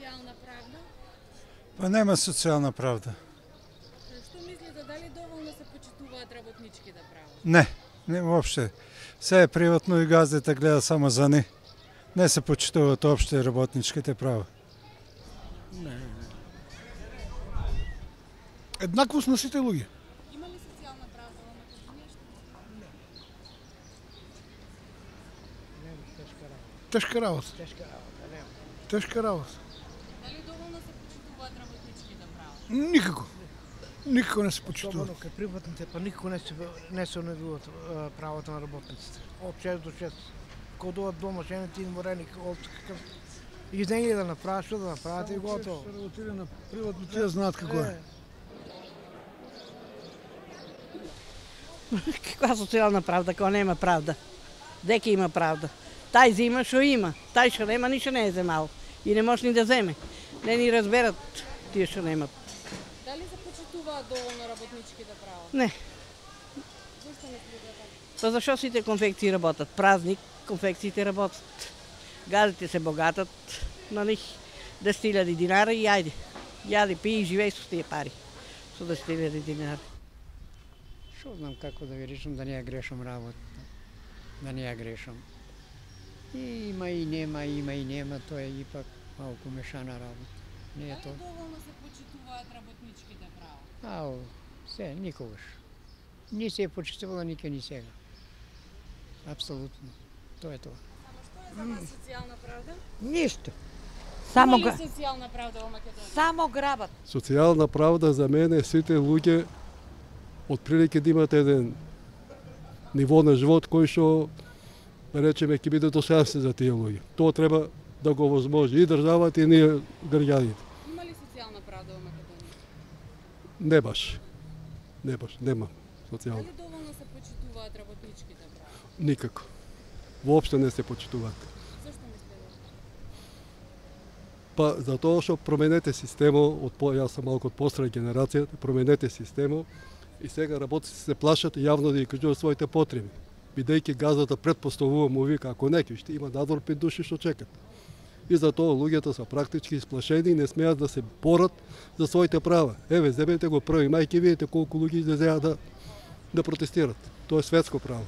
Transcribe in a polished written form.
социјална правда? Па нема социјална правда. Што мислите, дали доволно се почитуваат работничките права? Не воопште. Се е приватно и газдите гледа само за ни. Не се почитуваат опште работничките права. Еднаквост на сите луѓе. Има ли социјална правда во Македонија? Тешка работа. Тешка работа. Дали доволно се почитуваат работничките права? Никако. Никако не се почитува. Особено кај приватните, па никако не се онедуваат правата на работниците. Од 6 до 6. Кога дојдат дома, жените им мореник, од какав... И денеги да направат, што да направат и готово. Се работира на приватно, тие знаат како е. Каква социјална правда, кога нема правда? Деке има правда. Тај зима што има, тај што нема ништо не е земал. И не може ни да земе. Не ни разберат тие што немат. Дали се почитуваат доволно работничките права? Не. Зошто не следат? Па зашо сите конфекции работат? Празник, конфекциите работат. Газите се богатат на них 10.000 динара и ајде. Јади, пи и живеј со тие пари. Со 10.000 динара. Што знам како да ви речам, да не ја грешам работа. Да не ја грешам. Има и нема, тоа е ипак малку мешана работа. Не е Дали тоа. доволно се почитуваат работничките права? Ау, се, никогаш. Ни се е почитувала никој ни сега. Апсолутно. Тоа е тоа. Само што е за вас социјална правда? Ништо. Има ли социјална правда во Македонија? Само грабат. Социјална правда за мене сите луѓе отприлike да имат еден ниво на живот кој што да речеме ќе биде достојанствен за тие луѓе. Тоа треба да го возможи и државата и ние граѓаните. Има ли социјална правда во Македонија? Не баш. Нема социјална. Дали доволно се почитуваат работничките права? Никако. Воопште не се почитуваат. Зошто мислите? Па затоа што променете системот, јас сум малку од постара генерација, променете системот и сега работниците се плашат јавно да ги кажуваат своите потреби. Бидејќи газата предпоставува му вика, ако не ќе има надвор 5 души што чекат. И затоа луѓето се практички исплашени и не смеат да се борат за своите права. Еве, земете го 1 мај, ќе видите колку луѓе излезеа да протестират. Тоа е светско право.